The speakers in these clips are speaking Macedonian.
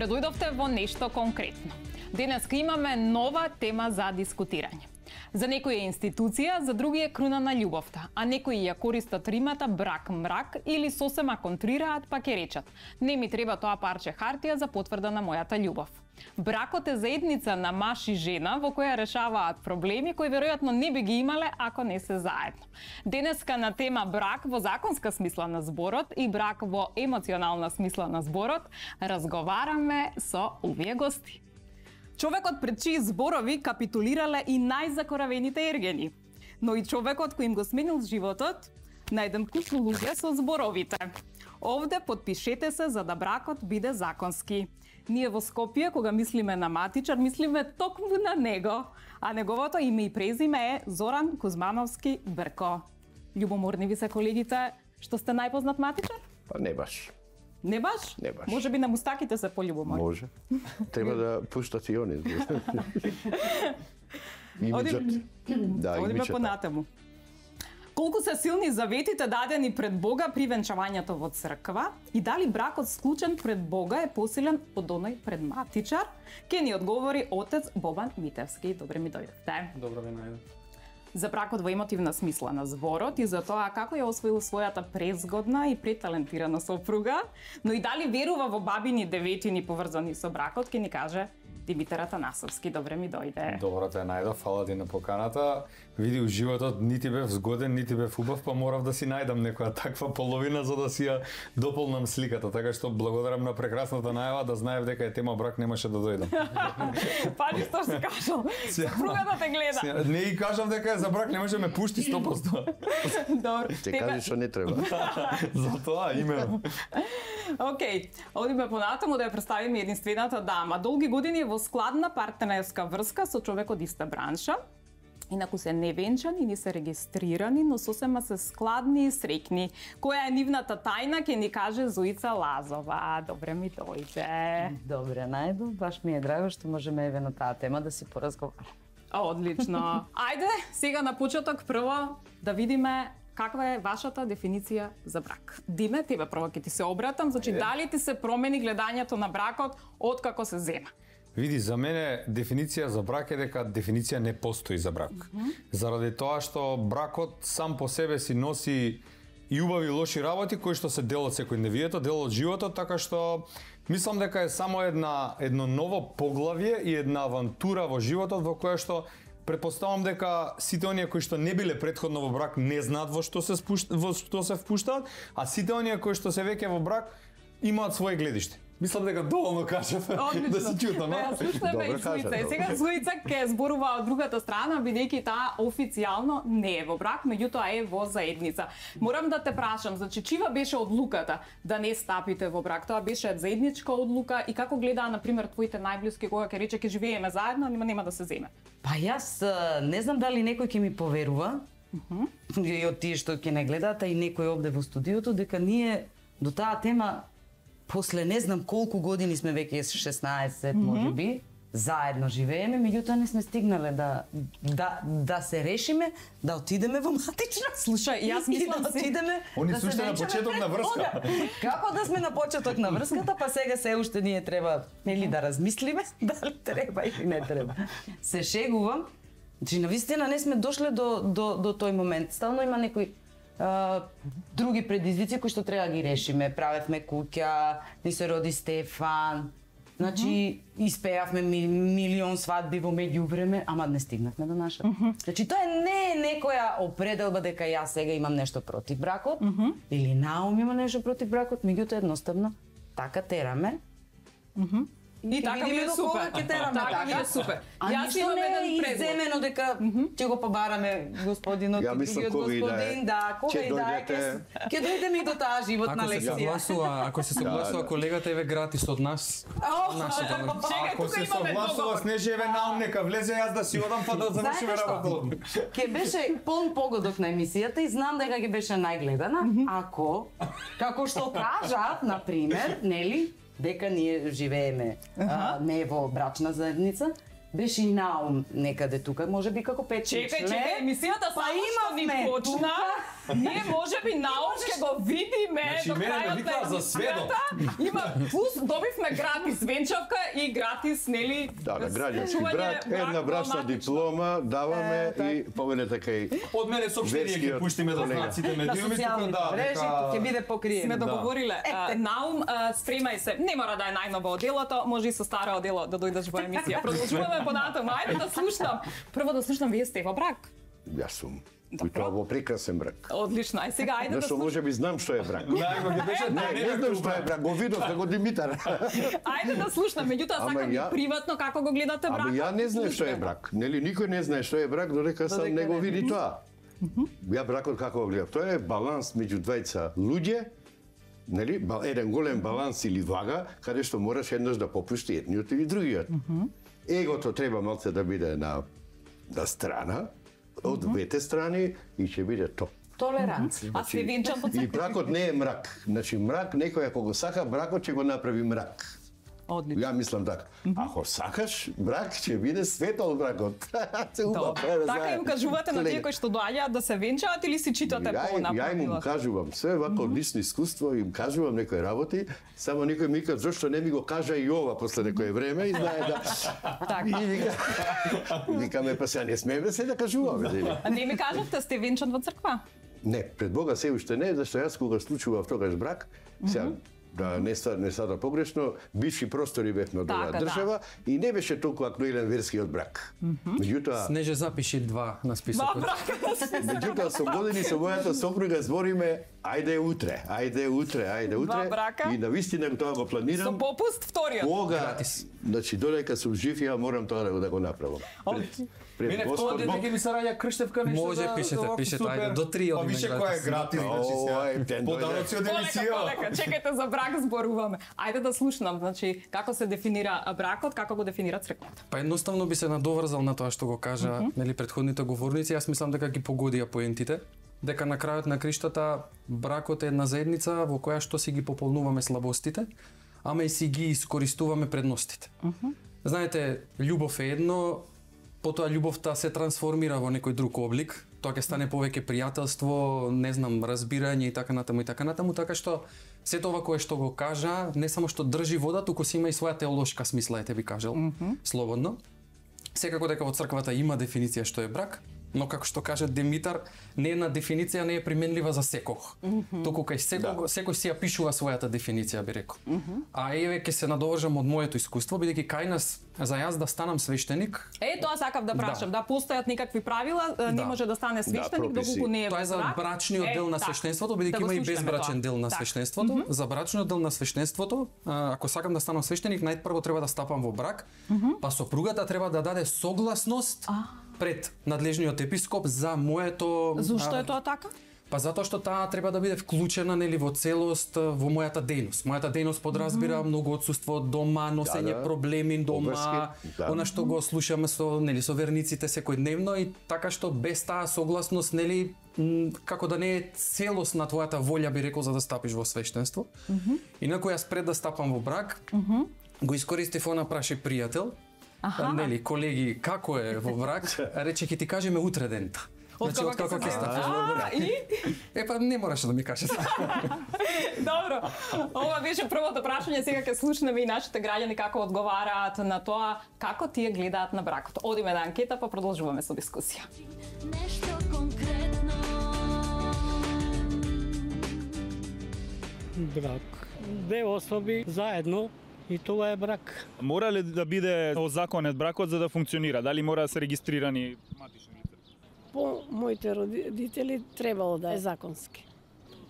Добре дојдовте во нешто конкретно. Денеска имаме нова тема за дискутирање. За некои е институција, за други е круна на љубовта, а некои ја користат римата брак-мрак или сосема контрираат па ќе речат: не ми треба тоа парче хартија за потврда на мојата љубов. Бракот е заедница на маж и жена во која решаваат проблеми кои веројатно не би ги имале ако не се заедно. Денеска на тема брак во законска смисла на зборот и брак во емоционална смисла на зборот разговараме со овие гости. Човекот пред чии зборови капитулирале и најзакоравените ергени, но и човекот кој им го сменил животот на еден куп луѓе со зборовите. Овде подпишете се за да бракот биде законски. Ние во Скопје, кога мислиме на матичар, мислиме токму на него, а неговото име и презиме е Зоран Кузмановски Брко. Љубоморни ви се колегите што сте најпознат матичар? Па не баш. Не баш? Не баш. Може би на мустаките се пољубоморни. Може. Треба да пуштат и они. Одиме понатаму. Колку се силни заветите дадени пред Бога при венчавањето во црква и дали бракот склучен пред Бога е посилен од оној пред матичар? Ке ни одговори отец Бобан Митевски. Добре ми дојдовте. Добро ви најдов. За бракот во емотивна смисла на зборот и за тоа како ја освоил својата презгодна и преталентирана сопруга, но и дали верува во бабини деветини поврзани со бракот, ке ни каже Димитар Атанасовски. Добре ми дојде. Добро те најдов, фала ти на поканата. Види, у животот нити бев згоден, нити бев убав, па морав да си најдам некоја таква половина за да си ја дополнам сликата, така што благодарам на прекрасната најава, да знаев дека е тема брак немаше да дојдам. Пази што си кажал. Сопругата те гледа. Не и кажав дека е за брак, немаше ме пушти 100%. Добро. Те кажи што не треба. За тоа именно. Океј, одиме понатаму да ја представиме единствената дама. Долги години во складна партнерска врска со човек од иста бранша. Инаку се невенчани, ни се регистрирани, но сосема се складни и среќни. Која е нивната тајна, ќе ни каже Зоица Лазова. Добре ми дојде. Добре, најдов. Баш ми е драго што можеме еве на таа тема да си поразговараме. Одлично. Ајде, сега на почеток прво да видиме каква е вашата дефиниција за брак. Диме, тебе прво ќе ти се обратам, значи дали ти се промени гледањето на бракот откако се зема? Види, за мене дефиниција за брак е дека дефиниција не постои за брак. Заради тоа што бракот сам по себе си носи и убави и лоши работи кои што се дел од секојдневието, дел од животот, така што мислам дека е само едно ново поглавје и една авантура во животот во која што претпоставам дека сите оние кои што не биле претходно во брак не знаат во што се впуштаат, а сите оние кои што се веќе во брак имаат своje гледиште. Мислам дека доволно кажав да се чутам. Слушнеме и Зоица. Сега Зоица ќе зборува од другата страна, бидејќи таа официјално не е во брак, меѓутоа е во заедница. Морам да те прашам, значи чива беше одлуката да не стапите во брак? Тоа беше заедничка одлука и како гледаа на пример твоите најблиски кога ќе рече ќе живееме заедно, нема да се земе? Па јас не знам дали некој ќе ми поверува, и од тие што ќе не гледаат, а и некој овде во студиото, дека ние до таа тема после не знам колку години сме веќе 16, може би, заедно живееме, меѓутоа не сме стигнале да се решиме да отидеме во матична. Слушај, јас мислам да отидеме. Они да се уште на почеток на врска. Како да сме на почеток на врската, па сега се уште ние треба нели да размислиме дали треба или не треба. Се шегувам. Значи навистина не сме дошле до тој момент. Стално има некои други предизвици кои што треба да ги решиме. Правевме куќа, ни се роди Стефан. Значи испеавме милион свадби во меѓувреме, ама не стигнавме до нашата. Значи тоа не е некоја определба дека јас сега имам нешто против бракот или Наум има нешто против бракот, меѓутоа едноставно така тераме. И така ми е супер. Така ми е супер. Јас имам еден предлог. Иземено дека ќе го побараме господинот и другиот господин, да, кога и да ќе дојдеме и до таа животна лекција. Ако се согласува колегата еве гратис од нас. Ако се согласува с неше еве Наум нека влезе, јас да си одам па да завршиме работа. Ќе беше полн погодок на емисијата и знам дека ќе беше најгледана, ако како што кажа, на пример, нели, дека ние живееме не во брачна заедница, беше и Наум некаде тука, може би како 5-6 Чекај, емисијата само што ни почна. Ние можеби научно го видиме Значи, до мене ме крајот викаа за сведок. Има плюс добивме гратис венчавка и гратис нели Да, граѓански чување брак, една брачна матично. диплома даваме и повелете кај Од мене соопштение ќе верскиот пуштиме да колега. знаците На медиуми тука социјалните да мрежи ќе биде покриено. Сме договориле. Ете. Наум, спремај се. Не мора да е најново делото, може и со старо дело да дојдеш во емисија. Продолжуваме понатаму. Ајде да слушнам. Прво да слушнам, вие сте во брак. Јас сум. И тоа во прекрасен брак. Одлично. Ај сега ајде да Зашто слушам. може би знам што е брак. Најго ќе беше Не знам што е брак, го видов како Димитар. Ајде да слушнам. Меѓутоа Ама сакам и ја- приватно како го гледате брак. Ама ја не знам што е брак. Нели никој не знае што е брак додека сам Додека не го не. види тоа. Ја бракот како го гледам? Тоа е баланс меѓу двајца луѓе, нели? Еден голем баланс или вага, каде што мораш еднаш да попушти едниот или другиот. Егото треба малце да биде на страна, од двете страни и ќе биде топ. Толеранција. А се венчам под И бракот не е мрак. Значи мрак некој ако го сака бракот ќе го направи мрак. Одлично. Ја мислам така. Ако сакаш брак ќе биде светол бракот. Се убав. Така им кажувате на тие кои што доаѓаат да се венчаат или си читате Ја им по-напред? кажувам се вако лично искуство, им кажувам некои работи, само некој ми вика зошто не ми го кажа и ова после некое време и знае да. Така. И викаме па сега не смееме се да кажуваме. Дели. А не ми кажавте, сте венчан во црква? Не, пред Бога се уште не, зашто јас кога случував тогаш брак, сега да не сада погрешно, бивши простори бевме од оваа Така, да. држава и не беше толку актуелен верскиот брак. Меѓутоа, Снеже запиши 2 на Два списокот. брака. меѓутоа со години со мојата сопруга збориме ајде утре, ајде утре, ајде утре. брака. И навистина тоа го Со планирам. попуст вториот. Кога, значи додека сум жив, ја морам тоа да го направам. Пред Мене Господ тоа дете Бог. ќе ми се раѓа крштевка нешто. Може, за- пишете, за овако пишете, супер. ајде, до 3 Па одиме више која е гратис. гратис, значи Ој, сега. тен Подароци од Полека, емисија. чекайте за брак зборуваме. Ајде да слушнам, значи како се дефинира бракот, како го дефинира црквата. Па едноставно би се надоврзал на тоа што го кажа, нели претходните говорници, јас мислам дека ги погодија поентите, дека на крајот на криштата бракот е една заедница во која што си ги пополнуваме слабостите, ама и си ги искористуваме предностите. Знаете, љубов е едно, потоа љубовта се трансформира во некој друг облик, тоа ќе стане повеќе пријателство, не знам, разбирање и така натаму, така што сето ова кое што го кажа, не само што држи вода, туку си има и своја теолошка смисла, ете би кажал, слободно. Секако дека во црквата има дефиниција што е брак, но како што кажа Димитар, не една дефиниција не е применлива за секог. Туку кај секој си ја пишува својата дефиниција, би рекол. А еве ќе се надовржам од моето искуство, бидејќи кај нас за јас да станам свештеник, Тоа сакав да прашам, да постојат некакви правила, не може да стане свештеник прописи. доколку не е тоа е во за брак. брачниот дел на така. свештенството, бидејќи Да го има и слушнеме безбрачен тоа. дел на Так. свештенството. За брачниот дел на свештенството, ако сакам да станам свештеник, најпрво треба да стапам во брак, па сопругата треба да даде согласност пред надлежниот епископ за моето Зошто е тоа така? Па затоа што таа треба да биде вклучена нели во целост во мојата дејност. Мојата дејност подразбира многу отсуство од дома, носење Да. проблеми дома, Обврски, да. она што го слушаме со нели со верниците секојдневно и така што без таа согласност нели како да не е целост на твојата волја би рекол за да стапиш во свештенство. Инаку јас пред да стапам во брак, го искористив она праши пријател, нели колеги како е во брак, рече ќе ти кажеме утре дента. Значи, од како ќе стапиш во брак. И? Па не мораше да ми кажете. Добро. Ова беше првото прашање, сега ќе слушнеме и нашите граѓани како одговараат на тоа како тие гледаат на бракот. Одиме на анкета па продолжуваме со дискусија. Нешто конкретно. Брак. Две особи заедно и тоа е брак. Мора ли да биде озаконет бракот за да функционира? Дали мора да се регистрирани матични лица? По моите родители требало да е законски.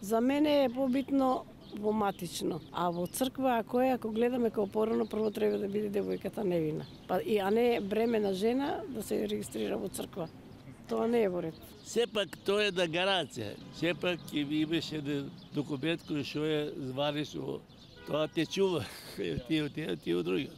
За мене е побитно во матично, а во црква ако гледаме како порано, прво треба да биде девојката невина. А не бремена жена да се регистрира во црква. Тоа не е во ред. Сепак тоа е да гаранција. Сепак имаше документ кој што е званично, тоа те чува, ти од другиот.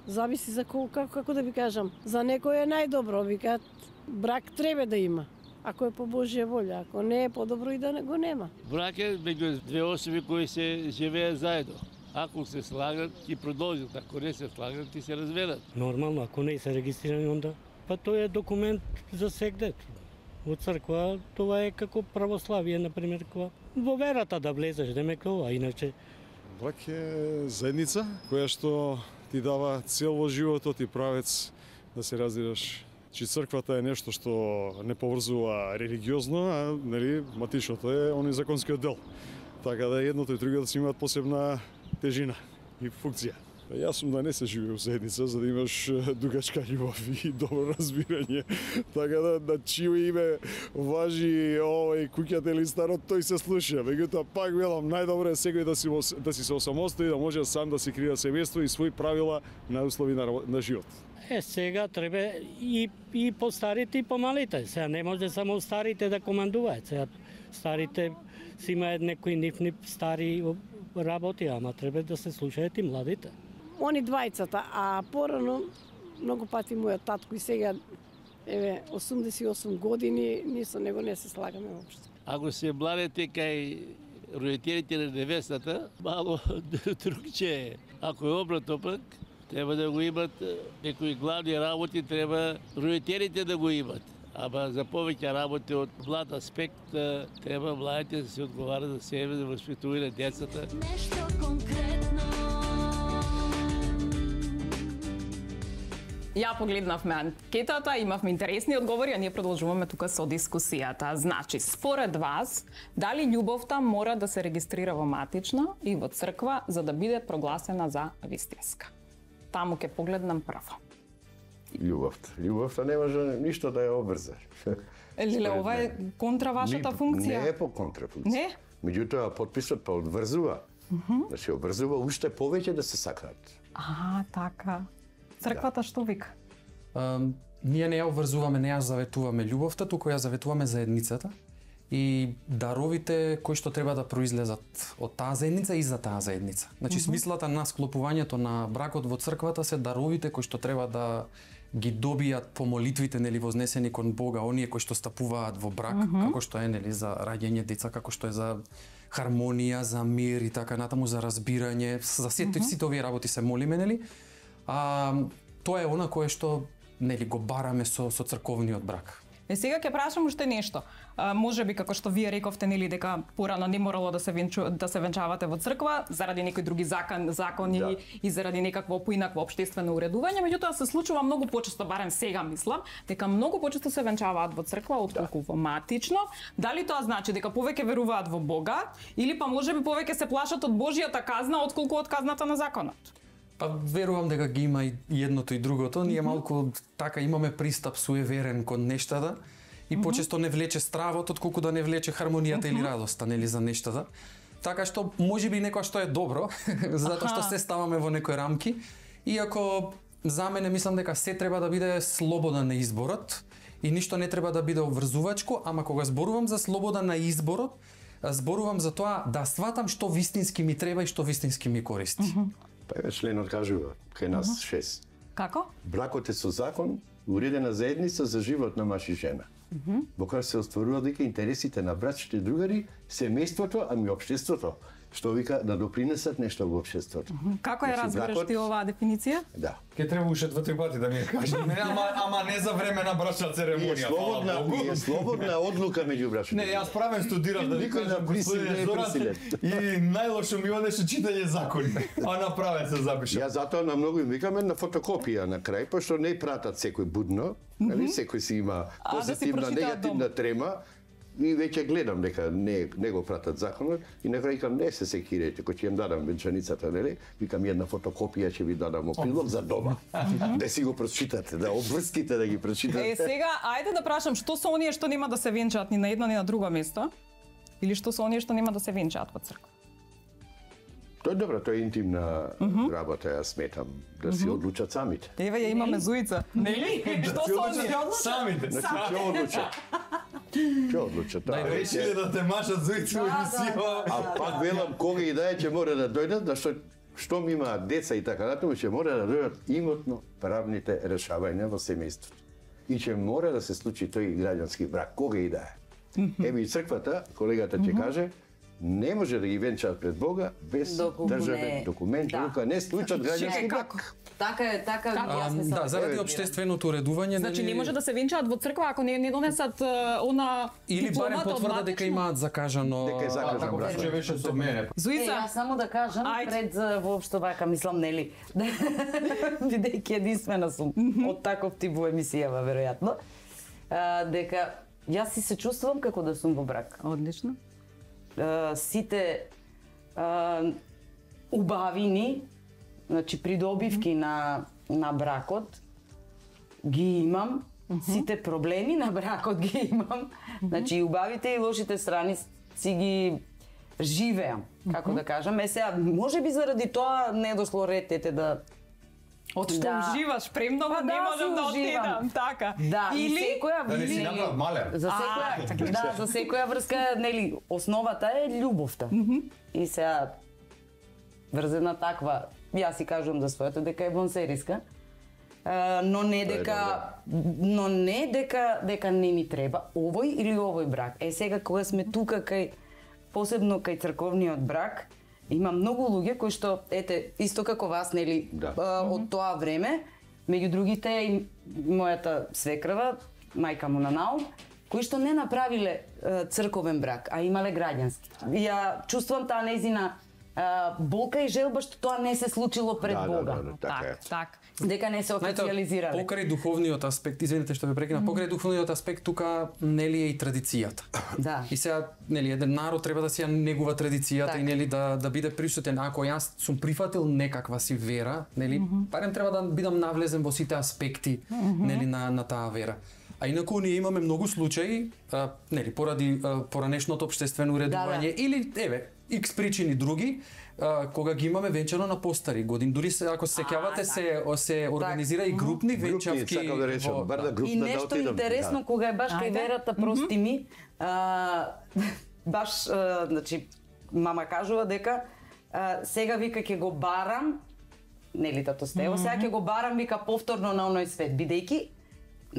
Зависи за како да ви кажам, за некој е најдобро, викаат брак треба да има. Ако е по Божја волја, ако не е подобро и да го нема. Брак е меѓу две особи кои се живеат заедно. Ако се слагат, ќе продолжат, ако не се слагат, ќе се разведат. Нормално, ако не се регистрирани, онда па тоа е документ за сегдет. во црква, тоа е како православие, например, кога во верата да влезеш, демек ова, иначе Брак е заедница која што ти дава цел во животот и правец да се раздираш. Чи црквата е нешто што не поврзува религиозно, а нели матичното е оној законскиот дел. Така да едното и другото си имаат посебна тежина и функција. Јас сум да не се живее во заедница за да имаш дугачка љубов и добро разбирање. Така да чио име важи овој куќата или старот, тој се слуша. Меѓутоа пак велам најдобро е секој да си се осамостои, да може сам да си креира семејство и свои правила на услови на живот. Сега треба и постарите и помалите. Сега не може само старите да командуваат. Сега старите си имаат некои нивни стари работи, ама треба да се слушаат и младите. Они двајцата, а порано многу пати мојот татко и сега 88 години, ние со него не се слагаме воопшто. Ако се младите кај родителите на невестата, мало другче е. Ако е обратно пак, треба да го имат некои главни работи, треба родителите да го имат. Ама за повеќе работи од млад аспект треба младите да се одговарат за себе, да воспитуваат децата. Нешто конкретно. Ја погледнавме анкетата, имавме интересни одговори, а ние продолжуваме тука со дискусијата. Значи, според вас, дали љубовта мора да се регистрира во матично и во црква за да биде прогласена за вистинска? Таму ќе погледнам прво. Љубовта не може ништо да ја обврзаш. Леле, ова е контра вашата функција? Не е по контра функција. Не? Меѓутоа, подписот па одврзува. Да се обврзува уште повеќе да се сакаат. Така. Црквата што вика? Ние не ја обврзуваме, не ја заветуваме љубовта, туку ја заветуваме заедницата и даровите кои што треба да произлезат од таа заедница и за таа заедница. Значи смислата на склопувањето на бракот во црквата се даровите кои што треба да ги добијат по молитвите нели вознесени кон Бога, оние кои што стапуваат во брак, како што е нели за раѓање деца, како што е за хармонија, за мир и така натаму, за разбирање, за сите овие работи се молиме нели. Тоа е она кое што нели го бараме со црковниот брак. Сега ќе прашам уште нешто. Може би како што вие рековте нели дека порано не морало да се венчавате во црква заради некои други закони и заради некакво поинакво општествено уредување, меѓутоа се случува многу почесто, барем сега мислам, дека многу почесто се венчаваат во црква отколку во матично. Дали тоа значи дека повеќе веруваат во Бога или па можеби повеќе се плашат од Божјата казна отколку од казната на законот? Па верувам дека ги има и едното и другото. Ние малку така имаме пристап суеверен кон нештата и почесто не влече стравот отколку да не влече хармонијата или радоста нели за нештата. Така што можеби некоја што е добро, затоа што се ставаме во некои рамки. Иако за мене мислам дека се треба да биде слобода на изборот и ништо не треба да биде обврзувачко, ама кога зборувам за слобода на изборот, зборувам за тоа да сватам што вистински ми треба и што вистински ми користи. Па членот кажува, кај нас 6. Како? Бракот е со закон, уредена заедница за живот на маж и жена. Во која се остварува дека интересите на братските другари, семејството, ами општеството, што вика да допринесат нешто во општеството. Како ја разбираш ти оваа дефиниција? Да. Ке треба уште 2-3 пати да ми ја кажеш. Ама не за време на брачна церемонија. Е слободна одлука меѓу брачните. Не, јас правен студирав да ви кажам господин Зоран и најлошо ми одеше читање закони. А направен се запишам. Ја затоа на многу им викаме на фотокопија на крај, пошто не пратат секој будно, нели секој си има позитивна, негативна трема. И веќе гледам дека не го пратат законот и на крај викам не се секирете, кој ќе им дадам венчаницата, нели? Викам една фотокопија ќе ви дадам прилог за дома. Да си го прочитате, да обврските да ги прочитате. Сега ајде да прашам што се оние што нема да се венчаат ни на едно ни на друго место? Или што се оние што нема да се венчаат во црква? Тоа е добро, тоа е интимна работа, јас сметам, да си одлучат самите. Еве ја имаме Зуица. Нели? Што се оние? Самите. Значи, ќе одлучат. Ќе одлучат. Решиле да те машат Зуица во емисија. А пак велам, кога и да е, ќе мора да дојдат, да што ми имаат деца и така натаму, ќе мора да дојдат имотно правните решавања во семејството. И ќе мора да се случи тој граѓански брак, кога и да е. Еве и црквата, колегата ќе каже, не може да ги венчаат пред Бога без државен документ, рука не склучат граѓански брак. Така е, јас мислам. Да, заради општественото уредување. Значи не може да се венчаат во црква ако не донесат она или барем потврда дека имаат закажано. Дека е закажан брак. Че беше со мене. Зуица, јас само да кажам пред воопшто вака мислам нели. Бидејќи единствена сум од таков тип во емисијава веројатно. Дека јас си се чувствувам како да сум во брак. Одлично. Сите убавини, значи придобивки на бракот ги имам, сите проблеми на бракот ги имам. Значи и убавите и лошите страни си ги живеам, како да кажам. Сега, можеби заради тоа не дошло ред да Од што уживаш премногу, не можам да отидам, така. Да, или секоја да не си направат малер. За секоја врска, нели, основата е љубовта. И сега врзена таква, јас си кажувам за своето дека е вонсериска, но не дека не ми треба овој или овој брак. Сега кога сме тука кај посебно кај црковниот брак, има многу луѓе кои што, исто како вас, нели, од тоа време, меѓу другите и мојата свекрва, мајка му на Наум, кои што не направиле црковен брак, а имале граѓански. Ја чувствувам таа нејзина болка и желба што тоа не се случило пред Бога. Так. Дека не се официализирале. Покрај духовниот аспект, извинете што ве прекинав, покрај духовниот аспект тука нели е и традицијата. Да. И сега нели еден народ треба да си ја негува традицијата и нели да биде присутен. Ако јас сум прифатил некаква си вера, нели, барем треба да бидам навлезен во сите аспекти нели на таа вера. А инаку ние имаме многу случаи, нели, поради поранешното општествено уредување или X причини други, кога ги имаме венчано на постари години. Дури се, ако се сеќавате, се организира и групни венчавки. И нешто интересно, кога е баш кај верата, прости ми, баш, значи, мама кажува дека сега вика ќе го барам, нели тато Стево, сега ќе го барам, вика, повторно на оној свет, бидејќи,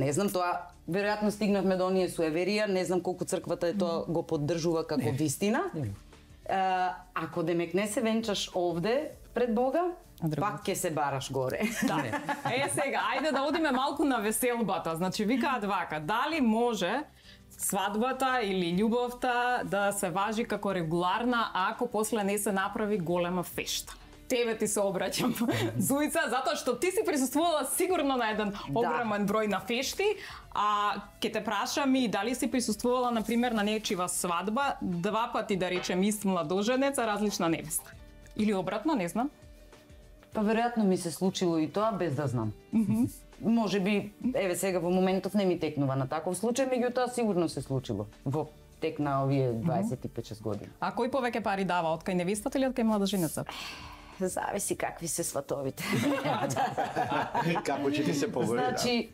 не знам, тоа веројатно стигнавме до оние суеверија, не знам колку црквата е тоа го поддржува како вистина. Ако демек не се венчаш овде пред Бога, пак ќе се бараш горе. Да. Сега, ајде да одиме малку на веселбата. Значи, викаат вака, дали може свадбата или љубовта да се важи како регуларна ако после не се направи голема фешта? Тебе ти се обраќам, Зуица, затоа што ти си присуствувала сигурно на еден огромен број на фешти, а ќе те прашам и дали си присуствувала, например, на нечива свадба, 2 пати, да речем, ист младоженец, а различна невеста. Или обратно, не знам. Па веројатно ми се случило и тоа без да знам. Можеби, сега во моментов не ми текнува на таков случај, меѓутоа сигурно се случило во тек на овие 25-6 години. А кој повеќе пари дава, од кај невестата или од кај младоженецот? Зависи какви се сватовите. Како ќе ти се повори? Значи,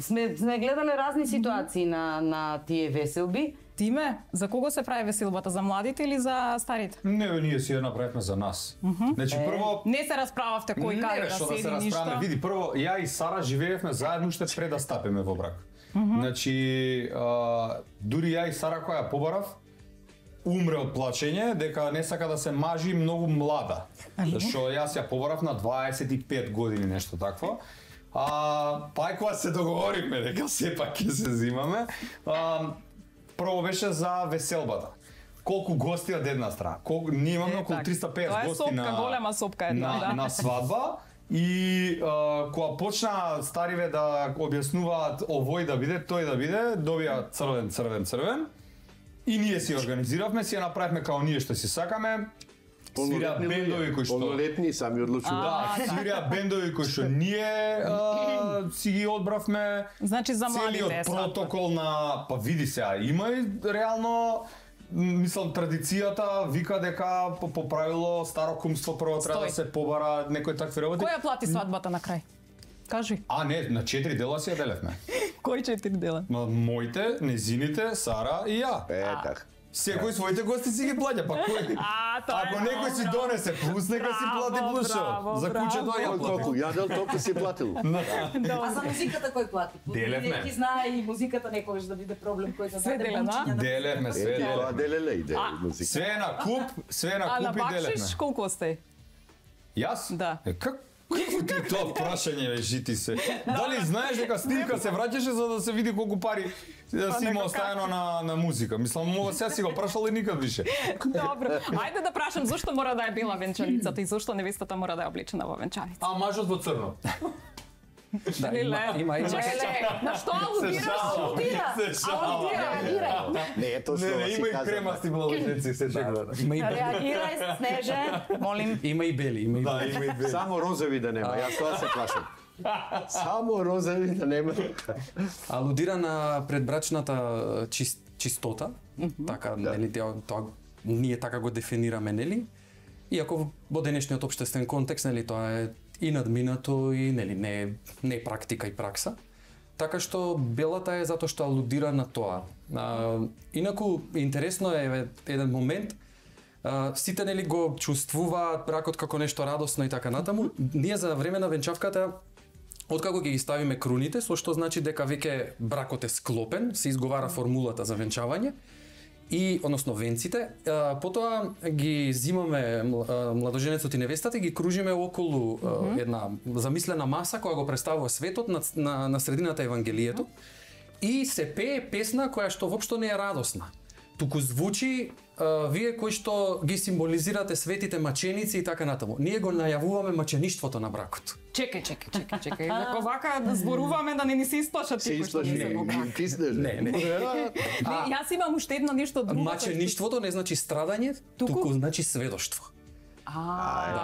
сме гледале разни ситуации на тие веселби. Тиме, за кого се прави веселбата? За младите или за старите? Не, ние си ја направивме за нас. Значи прво не се расправавте кој каде да седи ништо. Види, прво ја и Сара живеевме заедно уште пред да стапиме во брак. Значи дури ја и Сара која ја побарав умре од плачење дека не сака да се мажи многу млада. Зашто јас ја побарав на 25 години, нешто такво. Па кога се договоривме дека сепак ќе се зимаме, прво беше за веселбата. Колку гости од една страна. Ние имаме околу 350 гости голема сопка една, на свадба. И кога почна стариве да објаснуваат овој да биде, тој да биде, добија црвен. И ние си организиравме, си ја направивме као ние што си сакаме. Свирија бендови кои што полнолетни сами одлучуваат. Да, свирија бендови кои што ние си ги одбравме. Значи за младите целиот протокол на, па види сега, има и реално мислам традицијата вика дека по правило старо кумство прво треба да се побара некои такви работи. Која плати свадбата на крај? Кажи. Не, на 4 дела си ја делевме. Кои 4 дела? Моите, незините, Сара и ја. Така. Секој своите гости си ги плаќа, па кој? Ако некој си донесе плюс, нека си плати плюсо. За куќето ја плати. Колку јадел, толку си платил. А за музиката кој плати? Делевме. Неки знае и музиката некогаш да биде проблем кој да даде бончиња. Делевме, све Тоа делеле иде музика. Све на куп и делевме. А на бакшиш колку сте? Јас? Да. Какво ти тоа прашање бе, жити се? Дали знаеш дека снимка се враќаше за да се види колку пари си има оставено на музика? Мислам, мога сега си го прашал и никад више. Добро. Ајде да прашам зошто мора да е бела венчаницата и зошто невестата мора да е облечена во венчаница? А мажот во црно. Да, има. На што алудира? Не, тоа што има и кремасти блажници, се чекува. Реагирај, Снеже, молим. Има и бели, има и бели. Само розови да нема, јас тоа се плашам. Само розови да нема. Алудира на предбрачната чистота, така, нели, тоа ние така го дефинираме, нели? Иако во денешниот општествен контекст, нели, тоа е и надминато и нели не е практика и пракса. Така што белата е затоа што алудира на тоа. Инаку интересно е еден момент, сите нели го чувствуваат бракот како нешто радосно и така натаму. Ние за време на венчавката откако ги ставиме круните, со што значи дека веќе бракот е склопен, се изговара формулата за венчавање. И, односно венците, потоа ги зимаме младоженецот и невестата и ги кружиме околу една замислена маса која го представува светот на средината Евангелието и се пее песна која што воопшто не е радосна. Туку звучи вие кои што ги символизирате светите маченици и така натаму. Ние го најавуваме мачеништвото на бракот. Чекај. Ако вака да зборуваме да не ни се исплашат тие кои што не се во брак. Не. Јас имам уште едно нешто друго. Мачеништвото не значи страдање, туку значи сведоштво.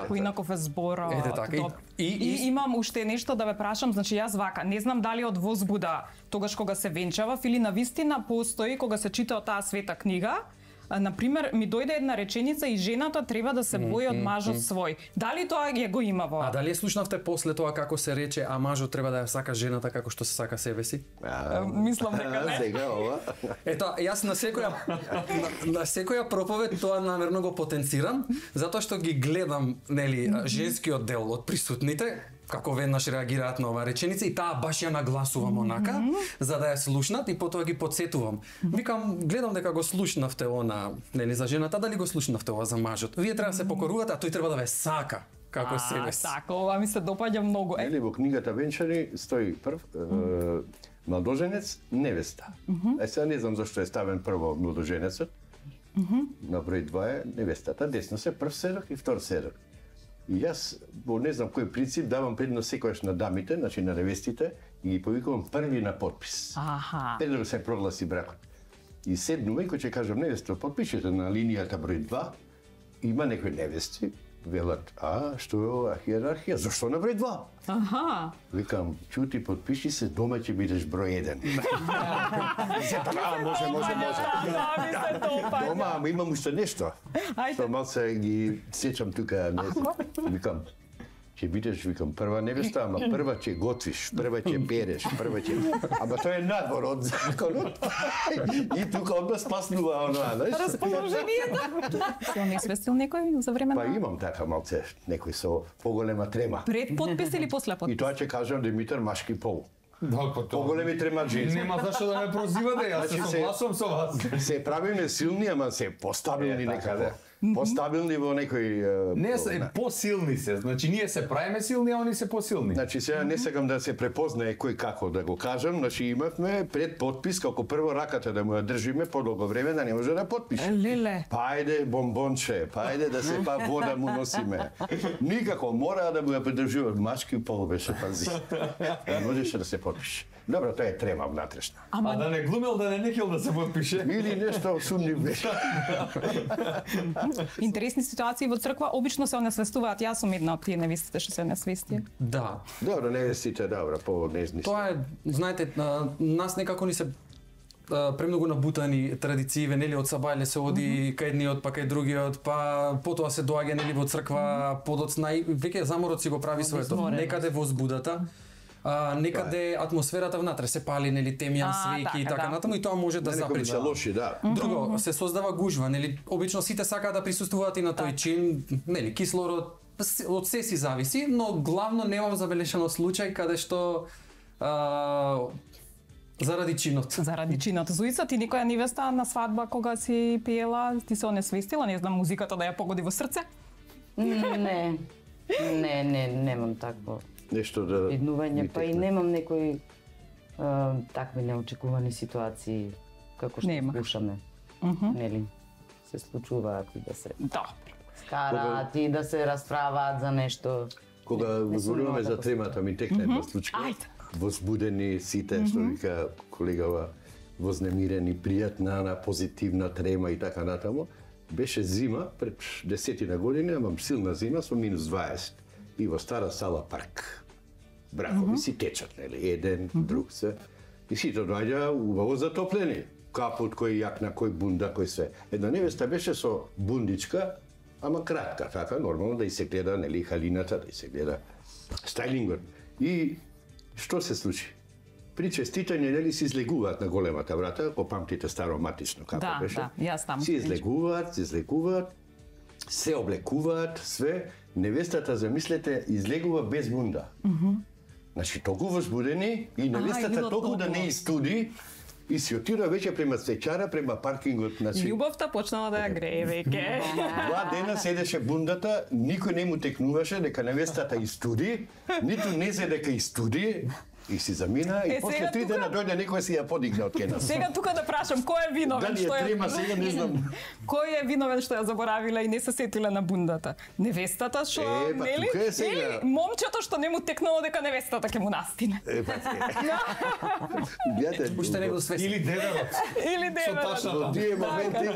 Поинаков е зборот. Ете така. И имам уште нешто да ве прашам, значи јас вака, не знам дали од возбуда тогаш кога се венчавав или навистина постои кога се чита таа света книга. Например, ми дојде една реченица и жената треба да се бои од мажот свој. Дали тоа ја го има во? А дали ја слушнавте после тоа како се рече, а мажот треба да ја сака жената како што се сака себе си? Мислам дека не. Сега ова. Ето, јас на секоја проповед тоа намерно го потенцирам, затоа што ги гледам, нели, женскиот дел од присутните, како веднаш реагираат на оваа реченица и таа баш ја нагласувам онака, за да ја слушнат и потоа ги подсетувам. Викам, гледам дека го слушнавте она, нели, за жената, дали го слушнавте ова за мажот? Вие треба да се покорувате, а тој треба да ве сака како себе си. Така, ова ми се допаѓа многу. Нели, во книгата Венчани стои прв младоженец, невеста. Сега не знам зашто е ставен прво младоженецот. На број 2 е невестата, десно се прв седок и втор седок. И јас, во не знам кој принцип, давам предност секојаш на дамите, значи на невестите, и ги повикувам први на подпис. Пред да се прогласи бракот. И седнувам, кој ќе кажам невеста, подпишете на линијата број 2, има некои невести, велат, што е ова хиерархија, зашто на број 2? Викам, чути, подпиши се, дома ќе бидеш број 1. Може. Дома, ама имам уште нешто. Што малце ги сечам тука, не знам. Викам, ќе бидеш, викам, прва невеста, ама прва ќе готвиш, прва ќе переш, прва ќе... Ама тоа е надвор од законот. И тука одма спаснува оноа, знаеш? Расположението. Се не свестил некој за време на... Па имам така малце, некој со поголема трема. Пред подпис или после подпис? И тоа ќе кажам Димитар машки пол. Поголеми трема женски. Нема зашто да ме прозивате, јас се согласувам со вас. Се правиме силни, ама се постабилни некаде. Постабилни во некој... Не се посилни се, значи ние се правиме силни, а они се посилни. Значи сега не сакам да се препознае кој како да го кажам, значи имавме пред подпис како прво раката да му ја држиме подолго време да не може да подпише. Леле. Па ајде бомбонче, па ајде да се па вода му носиме. Никако мора да му ја придржува машки пол беше пази. Не можеше да се подпише. Добро, тоа е трема внатрешна. А да не глумел, да не нехел да се подпише. Или нешто сумнив беше. Интересни ситуации во црква обично се онесвестуваат. Јас сум една од тие невестите што се онесвести. Да. Добро, невестите, добро, по-нежни. Тоа е, знаете, нас некако ни се премногу набутани традицииве, нели, од сабајле се оди кај едниот, па кај другиот, па потоа се доаѓа, нели, во црква, подоцна и веќе заморот си го прави своето. Некаде во збудата, некаде атмосферата внатре се пали, нели, темјан, свеќи и така натаму, и тоа може да запречи. Лоши, да. Друго, се создава гужва, нели, обично сите сакаат да присуствуваат и на тој чин, нели, кислород од се си зависи, но главно немам забелешано случај каде што заради чинот. Заради чинот. Зуица, ти некоја невеста на свадба кога си пеела, ти се онесвестила, не знам, музиката да ја погоди во срце? Не, немам такво нешто да виднување, па и немам некои такви неочекувани ситуации како што слушаме. Нели, се случуваат и да се скараат и да се расправаат за нешто. Кога зборуваме за тремата, ми текна една случка. Возбудени сите, што вика колегава, вознемирени, пријатна, позитивна трема и така натаму. Беше зима, пред 10 години, ама силна зима со -20. И во стара сала парк. Бракови си течат, нели, еден, друг се. И сите доаѓа убаво затоплени. Капут, кој јакна, кој бунда, кој све. Една невеста беше со бундичка, ама кратка, така, нормално да и се гледа, нели, халината, да и се гледа стајлингот. И што се случи? При честитање, нели, се излегуваат на големата врата, ако памтите старо матично како беше. Да, јас таму. Се излегуваат, се облекуваат, све. Невестата, замислете, излегува без бунда. Значи, толку возбудени и невестата толку да не истуди и си отира веќе према свеќара, према паркингот. Значи, љубовта почнала да ја грее веќе. 2 дена седеше бундата, никој не му текнуваше дека невестата истуди, ниту не се дека истуди. И си замина и после 3 дена дојде некој си ја подигна од кена. Сега тука да прашам, кој е виновен? Дали е трема сега, не знам. Кој е виновен што ја заборавила и не се сетила на бундата? Невестата што, нели? Или момчето што не му текнало дека невестата ќе му настине? Уште не го свести. Или деверот. Или деверот. Во тие моменти,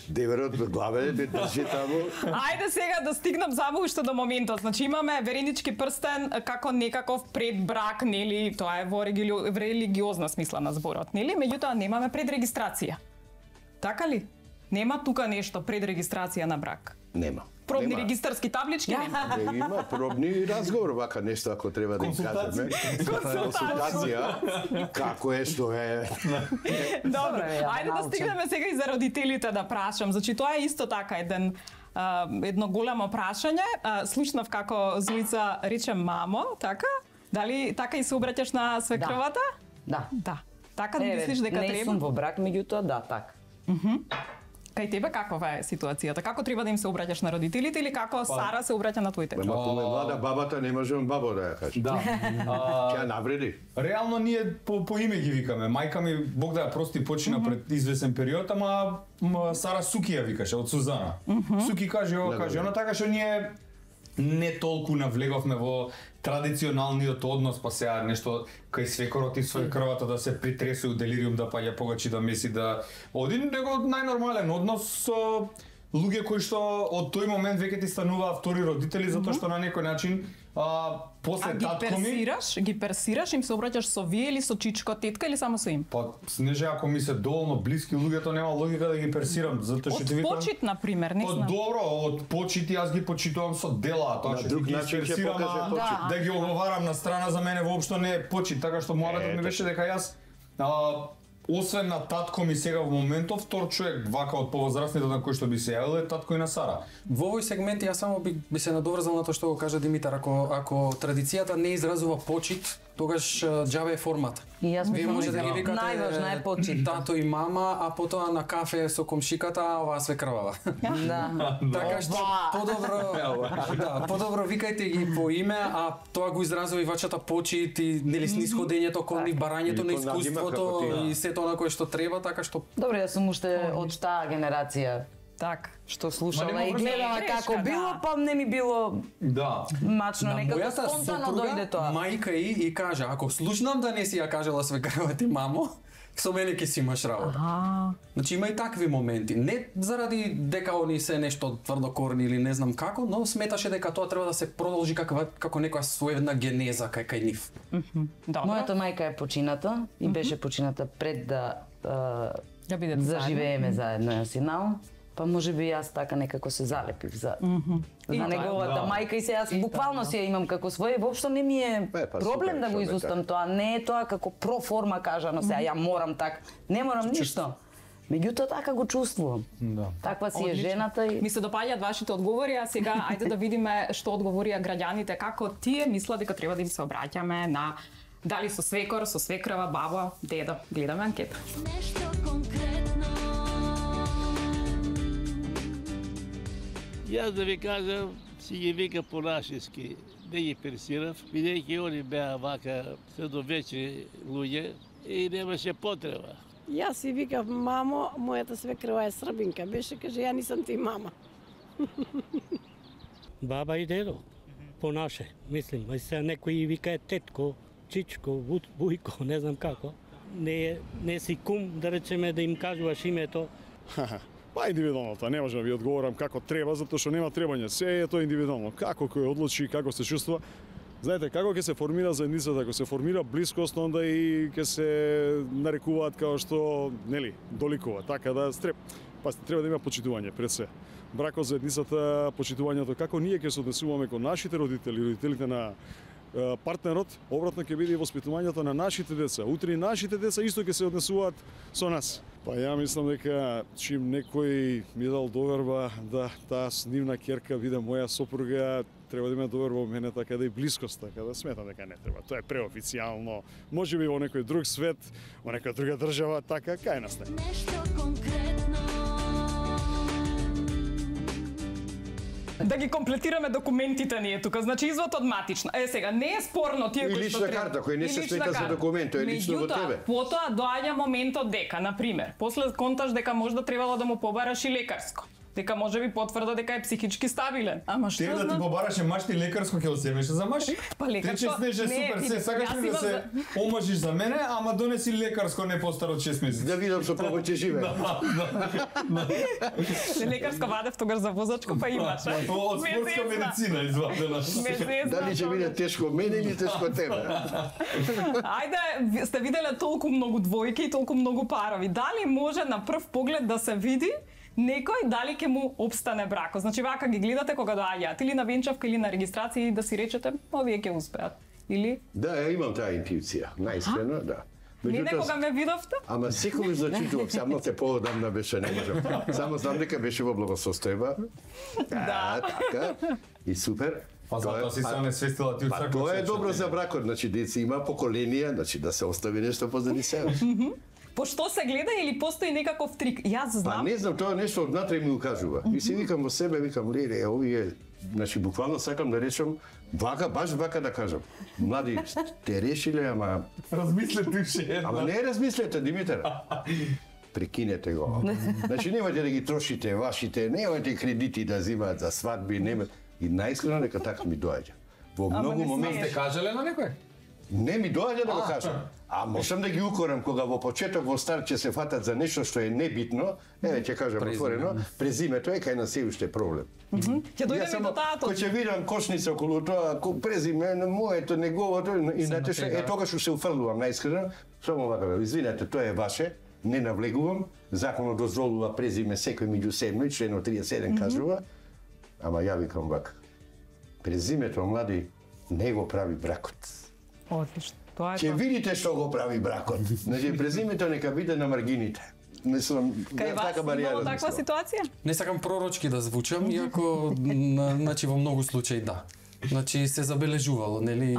деверот главе не држи таму. Ајде сега да стигнам само уште до моментот. Значи имаме веренички прстен како некаков предбрак, нели? Тоа е во религиозна смисла на зборот, нели? Меѓутоа немаме предрегистрација. Така ли? Нема тука нешто предрегистрација на брак. Нема. Пробни регистарски таблички нема. Има пробни разговор, вака нешто ако треба да им кажеме. Консултација. Како е, што е. Добро, ајде да стигнеме сега и за родителите да прашам. Значи тоа е исто така едно големо прашање. Слушнав како Зуица рече мамо, така? Дали така и се обраќаш на свекровата? Да. Така мислиш дека треба? Не сум во брак, меѓутоа да, така. Кај тебе каква е ситуацијата? Како треба да им се обраќаш на родителите или како Сара се обраќа на твоите? Ама кога е млада бабата не може бабо да ја каже. Да. Ќе навреди. Реално ние по име ги викаме. Мајка ми, Бог да ја прости, почина пред извесен период, ама Сара Суки ја викаше од Сузана. Суки каже ова, каже она, така што ние не толку навлеговме во традиционалниот однос, па сега нешто кај свекорот и свекрвата да се притресува делириум, да паѓа погачи, да меси, да один него најнормален однос со луѓе кои што од тој момент веќе ти стануваа втори родители, затоа што на некој начин после татко ми... ги персираш, им се обраќаш со вие или со чичко, тетка или само со им? Па, снеже, ако ми се доволно блиски луѓето, нема логика да ги персирам, затоа што ти викам... Од почит, например, не знам. Добро, од почит јас ги почитувам со дела, тоа што ги персирам, да ги оговарам на страна, за мене воопшто не е почит, така што мојата ми беше дека јас освен на татко ми сега во моментов, втор човек вака од повозрастните на кој што би се јавил е татко и на Сара. Во овој сегмент ја само би се надоврзал на тоа што го кажа Димитар, ако традицијата не изразува почит, тогаш џабе е формата. Вие може да ги викате најважна е почит. Тато и мама, а потоа на кафе со комшиката, оваа свекрвава. Да. Така што подобро викајте ги по име, а тоа го изразува и вачата почит и нели снисходењето кон нив, барањето на искуството и сето на кое што треба, така што... Добре, јас сум уште од таа генерација. Так, што слушала и гледала како било, па не ми било мачно, некако спонтано дојде тоа. Мајка и кажа, ако слушнам да не си ја кажала свекрва ти мамо, со мене ќе си имаш работа. Значи има и такви моменти. Не заради дека они се нешто тврдокорни или не знам како, но сметаше дека тоа треба да се продолжи како некоја своевна генеза кај нив. Мојата мајка е почината и беше почината пред да заживееме заедно, јас и Нао. Па може би јас така некако се залепив за неговата мајка и се јас буквално си ја имам како своја и воопшто не ми е проблем да го изустам тоа, не е тоа како проформа кажано сега ја морам така, не морам ништо. Меѓутоа така го чувствувам. Таква си е жената и ми се допаѓаат вашите одговори, а сега ајде да видиме што одговорија граѓаните, како тие мислат дека треба да им се обраќаме на дали со свекор, со свекрва, баба, дедо. Гледаме анкета. Нешто конкретно. Јас да ви кажам, си ги вика по-нашиски, не ги персирав, бидејќи они беа вака средовечни луѓе и немаше потреба. Јас си викав мамо, мојата свекрва е србинка, беше каже ја нисам ти мама. Баба и дедо, по наше, мислим, а сега некој вика е тетко, чичко, бујко, не знам како. Не си кум, да речеме, да им кажуваш името. Па индивидуално, тоа не можам да ви одговорам како треба, затоа што нема требање. Се е тоа индивидуално. Како кој одлучи, како се чувствува. Знаете, како ќе се формира заедницата, ако се формира блискост, онда и ќе се нарекуваат како што, нели, доликува. Така да треба да има почитување пред се. Бракот, заедницата, почитувањето, како ние ќе се однесуваме кон нашите родители, родителите на партнерот, обратно ќе биде и воспитувањето на нашите деца. Утре и нашите деца исто ќе се однесуваат со нас. Па ја мислам дека чим некој ми дал доверба да таа нивна ќерка биде моја сопруга, треба да има доверба во мене, така да и блискост, така да сметам дека не треба. Тоа е преофицијално. Може би во некој друг свет, во некоја друга држава, така кај нас не. Нешто конкретно. Да ги комплетираме документите ние тука, значи извод од матична. Сега не е спорно тие кои што лична карта, кој не се смета за документ, тоа е лично во тебе. Потоа доаѓа моментот дека, на пример, после конташ дека можда требало да му побараш и лекарско. Дека може би потврда дека е психички стабилен. Ама што Тебе да ти побараше машти лекарско ќе го земеше за маш? Па лекарско. Ти супер, се сакаш ли да се омажиш за мене, ама донеси лекарско не постаро од 6 месеци. Да видам што повеќе живее. Лекарско вадев тогаш за возачко, па имаш. Од спортска медицина извадена. Дали ќе биде тешко мене или тешко тебе? Ајде, сте виделе толку многу двојки и толку многу парови. Дали може на прв поглед да се види некој дали ќе му обстане бракот? Значи вака ги гледате кога доаѓаат или на венчавка или на регистрација и да си речете, овие ќе успеат. Или? Да, ја имам таа интуиција, наискрено, да. Не некога ме видовте? Ама секогаш зачитував, само те поодамна беше, не можам. Само знам дека беше во благосостојба. Да, така. И супер. Па затоа си се онесвестила ти Па тоа е добро за бракот, значи деца има поколенија, значи да се остави нешто позади себе. По што се гледа или постои некаков трик? Јас знам. Па не знам, тоа нешто однатре ми укажува. И си викам во себе, викам, леле, овие, значи буквално сакам да речам, вака, баш вака да кажам. Млади, те решиле, ама... Размислете уште едно. Ама не размислете, Димитар. Прекинете го. Значи немате да ги трошите вашите, немате кредити да зимаат за свадби, немате. И наискрено дека така ми доаѓа. Во многу моменти сте кажале на некој? Не ми доаѓа да го кажам. А можам да ги укорам кога во почеток во старт ќе се фатат за нешто што е небитно, еве ќе кажам отворено, презимето е кај нас се уште проблем. Ќе дојдеме до таа точка. Кој ќе видам кошница околу тоа, презиме моето, неговото и знаете што, тогаш се уфрлувам наискрено, само вака, извинете, тоа е ваше, не навлегувам, законот дозволува презиме секој меѓу седно, членот 37 кажува, ама ја викам вака. Презимето, млади, не го прави бракот. Одлично. Тоа е. Ќе видите што го прави бракот. Значи презимето нека биде на маргините. Мислам, кај вас имало таква ситуација? Не сакам пророчки да звучам, иако значи во многу случаи да. Значи се забележувало, нели?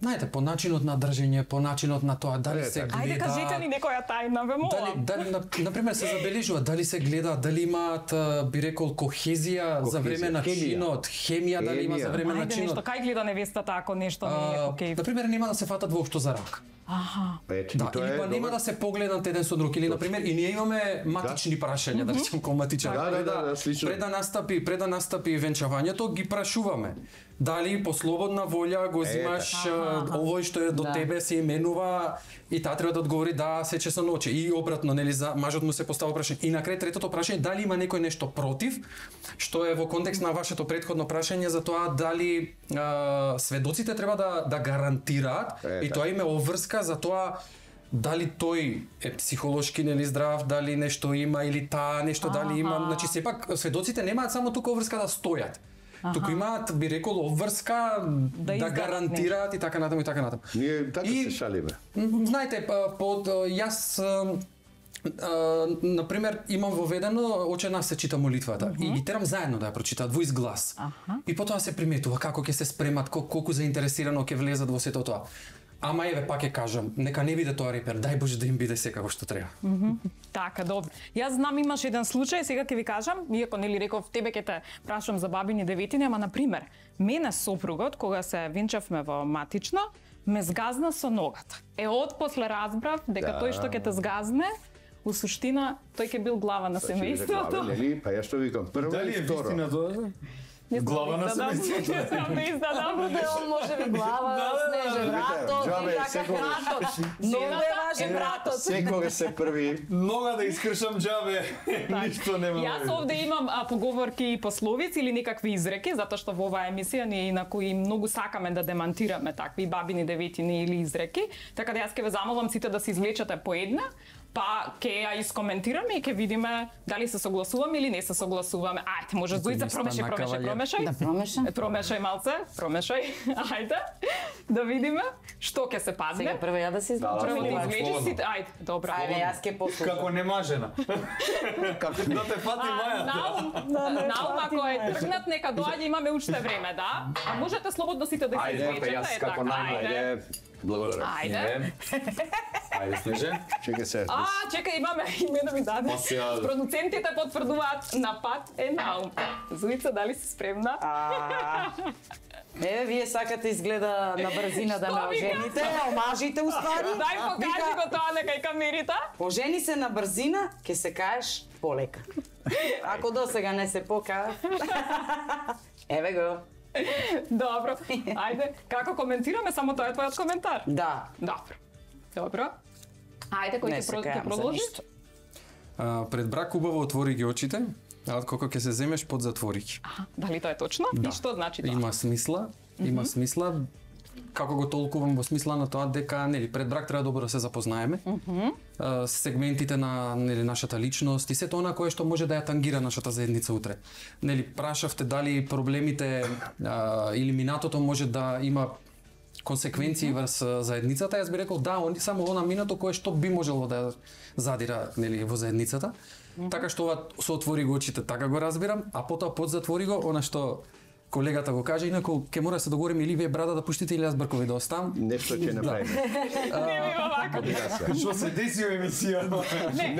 Знаете, по начинот на држење, по начинот на тоа дали се гледа. Ајде кажете ни некоја тајна, ве молам. Дали на пример се забележува дали се гледа, дали имаат би рекол кохезија за време на чинот, хемија дали има за време на чинот. Ајде нешто, кај гледа невестата ако нешто не е окей. На пример нема да се фатат воопшто за рак. Да, или па нема да се погледнат еден со друг, или на пример и ние имаме матични прашања, да речем кон матичар. Пред да настапи венчавањето ги прашуваме. Дали по слободна волја го зимаш овој што е до тебе се именува и таа треба да одговори да сече со ноќе. И обратно, нели, за мажот му се постава прашање. И на крај третото прашање, дали има некој нешто против, што е во контекст на вашето претходно прашање за тоа дали сведоците треба да гарантираат и тоа име обврска за тоа дали тој е психолошки нели здрав, дали нешто има или таа нешто дали има, значи сепак сведоците немаат само тука обврска да стојат. Туку имаат, би рекол, обврска да гарантираат и така натаму и така натаму. Ние така се шалиме. Знаете, јас например, имам воведено Оче наш се чита молитвата и ги терам заедно да ја прочитаат во изглас. И потоа се приметува како ќе се спремат, колку заинтересирано ќе влезат во сето тоа. Ама еве пак ќе кажам, нека не биде тоа репер, дај Боже да им биде секако што треба. Така, добро. Јас знам имаш еден случај, сега ќе ви кажам, иако нели реков тебе ќе те прашам за бабини деветини, ама на пример, мене сопругот кога се венчавме во матично, ме згазна со ногата. Отпосле разбрав дека тој што ќе те згазне, у суштина тој ќе бил глава на семејството. Нели, па ја што викам, прво Дали и е второ. вистина тоа? Глава на семејството. Не издадам. Он може би глава, снеже братот, Джабе, и така секогаш. братот. Многу е важен братот. Секогаш се први. Нога да искршам џабе, ништо нема. Јас овде имам поговорки и пословици или некакви изреки, затоа што во оваа емисија ние инаку и многу сакаме да демантираме такви бабини деветини или изреки, така да јас ќе ве замолам сите да се извлечете по една, па ќе ја искоментираме и ќе видиме дали се согласуваме или не се согласуваме. Ајде, може Зоица промешај. Да промешам. Промешај малце, промешај. Ајде. Да видиме што ќе се падне. Сега прво ја да се извлечам. Прво да или извлечиш сите. Ајде, добро. Ајде, јас ќе послушам. Како немажена. Како да те фати мајата. Наум, ако е тргнат, нека доаѓа, имаме уште време, да? А можете слободно сите да се извлечете. Ајде, јас како најмладе. Благодарам. Ајде. Ајде, Снеже. Чекај се. Чекај, имаме имено ми даде. Продуцентите потврдуваат на пат е Наум. Зоица, дали си спремна? Еве, вие сакате изгледа на брзина да ме ожените, омажите уствари. Дај покажи го тоа на кај камерите. Ожени се на брзина, ќе се каеш полека. Ако до сега не се покажа. Еве го. Добро. Ајде, како коментираме, само тоа е твојот коментар. Да. Добро. Ајде, кој ќе продолжи? Пред брак убаво отвори ги очите, а откако ќе се земеш под затвори ги. Дали тоа е точно? Да. И што значи тоа? Има смисла, има смисла. Како го толкувам во смисла на тоа дека нели пред брак треба добро да се запознаеме. Сегментите на нели нашата личност и сето она кое што може да ја тангира нашата заедница утре. Нели прашавте дали проблемите или минатото може да има консеквенции врз заедницата, јас би рекол да, само она минато кое што би можело да задира нели во заедницата. Така што ова се отвори го очите, така го разбирам, а потоа подзатвори го она што колегата го кажа, инаку ќе мора да се договориме или вие брада да пуштите или јас бркови да оставам. Нешто ќе направиме. Не ми вака. Што се деси во емисија?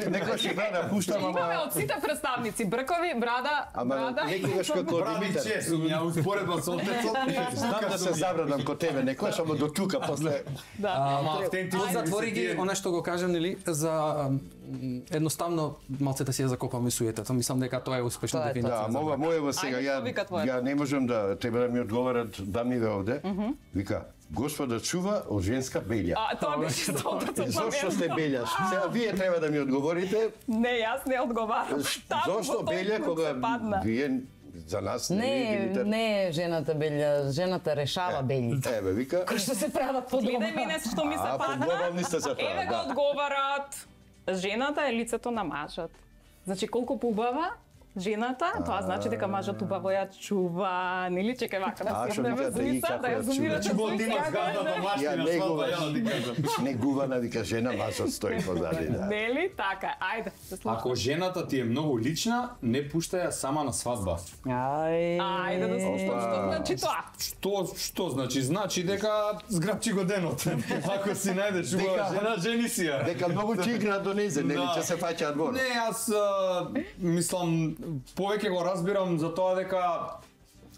Некој ќе брада пуштам, Имаме ама од сите представници, бркови, брада, брада. некогаш како Бради Димитар. често, ја успоредба со отецот. Знам да се забрадам ко тебе, некојаш, ама до тука после. Ама автентично Затвори ги она што го кажам нели за едноставно малце да си ја закопаме суетата. Мислам дека тоа е успешна Тоа е дефиниција. Да, мога моево сега Ајде, што вика твојот? ја не можам да треба да ми одговорат дамиве овде. Вика, Господа чува од женска белја. Тоа беше стотото. Зошто сте белјаш? Сега вие треба да ми одговорите. Не, јас не одговарам. Зошто белја кога вие за нас Не е жената белја, жената решава белите. Еве вика. Кои што се прават по дома. Гледај мене што ми се падна. подготовни сте за тоа, Еве го да. одговарат. Жената е лицето на мажот. Значи колку поубава жената, тоа значи дека мажот убаво ја чува, нели чекај вака да што седнеме викате, и Зоица, како да ја ја зумирате чува? Бол има згадната Ја машина, свата ја ти кажам. негувана вика жена, мажот стои позади, да. Нели така, ајде, се слушаме. Ако жената ти е многу лична, не пуштај ја сама на свадба. Ајде да слушаме што значи тоа. Што значи? Значи дека зграбчи го денот. Ако си најдеш убава жена, жени си ја. Дека многу ќе игра до незе, нели Да. ќе се фаќаат двор. Не, јас мислам повеќе го разбирам за тоа дека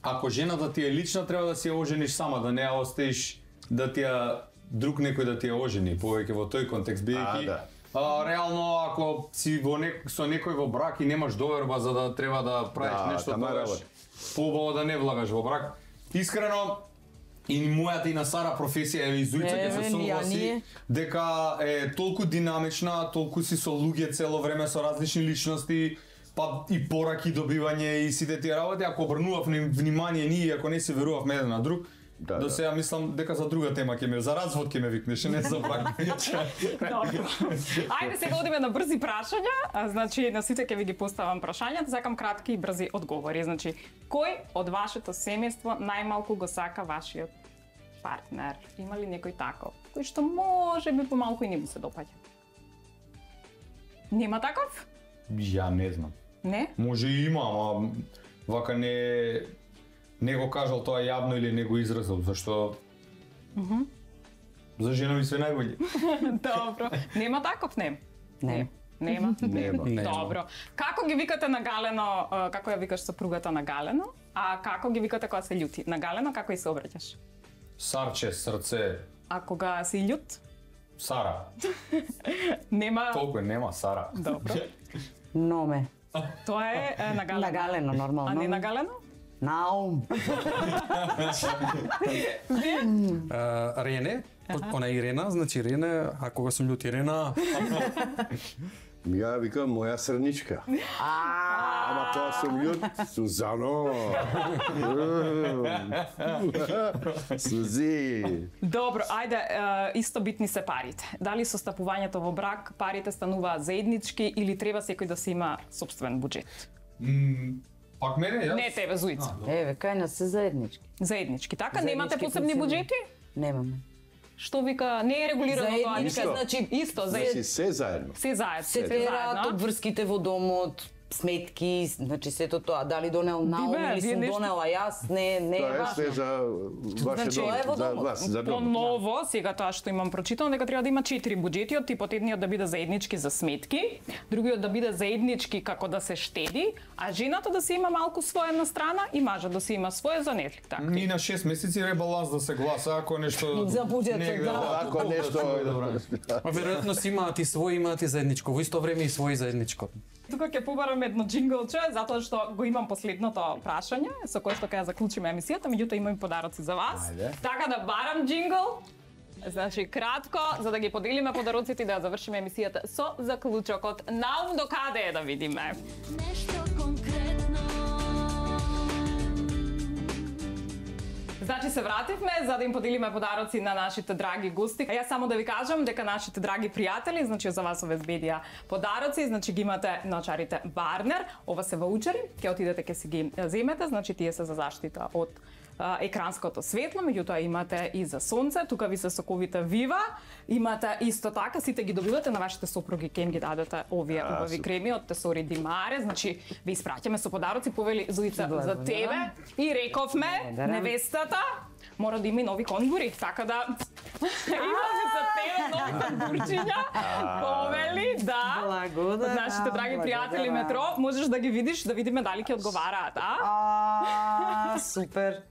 ако жената ти е лична, треба да си ја ожениш сама, да не ја оставиш да ти ја друг некој да ти ја ожени, повеќе во тој контекст бидејќи да. реално ако си со некој во брак и немаш доверба за да треба да правиш Да, нешто тама тогаш, работа. поубаво да не влагаш во брак. Искрено, и мојата и на Сара професија е Зоица ќе се согласи дека е толку динамична, толку си со луѓе цело време со различни личности, па и пораки добивање и сите тие работи, ако обрнував внимание ние, ако не се верувавме еден на друг, Да, До сега мислам дека за друга тема ќе ме, за развод ќе ме викнеш, не за брак. Добро. Ајде сега одиме на брзи прашања. Значи на сите ќе ви ги поставам прашањата, сакам кратки и брзи одговори. Значи, кој од вашето семејство најмалку го сака вашиот партнер? Има ли некој таков? Кој што може би помалку и не му се допаѓа? Нема таков? Ја не знам. Не? Може и има, ама вака не го кажал тоа јавно или не го изразил, зашто за жена ми се најбољи. Добро. Нема таков, не? Не. Нема? Нема. Добро. Како ги викате на галено, како ја викаш сопругата на галено, а како ги викате кога се љути? На галено како и се обраќаш? Сарче, срце, А кога си љут? Сара. Нема... Толку нема Сара. Добро. Номе. Тоа е на галено. На галено, нормално. А не на галено? Наум. Рене, она Ирена, значи Рене, а кога сум љут Ирена, Ја викам моја срничка. Ама тоа сум љут, Сузано. Сузи. Добро, ајде, исто битни се парите. Дали со стапувањето во брак парите стануваат заеднички или треба секој да си има сопствен буџет? Пак мене, јас? Не тебе, Зуица. Еве, кај нас се заеднички. Заеднички, така? Заеднички Немате посебни функционира. буџети? Немаме. Што вика, не е регулирано тоа, Заеднички, вика, значи, исто, Значи заеднички. се заедно. Се заедно. Се пераат обврските во домот, сметки, значи сето тоа, дали донел Наум Бе, или вие сум нешто- донела јас, не е Тоа е важно. све за ваше Значи, тоа е во дом, за домот. вас, за По дом. ново, сега тоа што имам прочитано, дека треба да има 4 буџети, од типот едниот да биде заеднички за сметки, другиот да биде заеднички како да се штеди, а жената да си има малку своја на страна и мажот да си има своја за нели, така. Ни на 6 месеци ребаланс да се гласа, ако нешто... За буџетот, не да. гледа, Ако нешто... а веројатно си имаат и свој, имаат и заедничко, во исто време и свој заедничко. Тука ќе побарам едно джинглче, затоа што го имам последното прашање, со кое што ќе ја заклучиме емисијата, меѓутоа имам и подароци за вас. Ајде. Така да барам джингл. Значи, кратко, за да ги поделиме подароците и да ја завршиме емисијата со заклучокот. Наум до каде е да видиме? Нешто конкретно. Значи се вративме за да им поделиме подароци на нашите драги гости. А јас само да ви кажам дека нашите драги пријатели, значи за вас обезбедија подароци, значи ги имате на очарите Warner, ова се ваучери, ќе отидете ќе си ги земете, значи тие се за заштита од екранското светло, меѓутоа имате и за сонце, тука ви се соковите Viva, имате исто така, сите ги добивате на вашите сопруги, ќе им ги дадете овие убави креми од Тесори Димаре, значи ви испраќаме со подароци, повели Зуица за тебе и рековме невестата мора да има и нови конгури, така да имаме за тебе нови конгурчиња, повели, да. Благодарам. Од нашите драги пријатели Метро, можеш да ги видиш, да видиме дали ќе одговараат, Супер.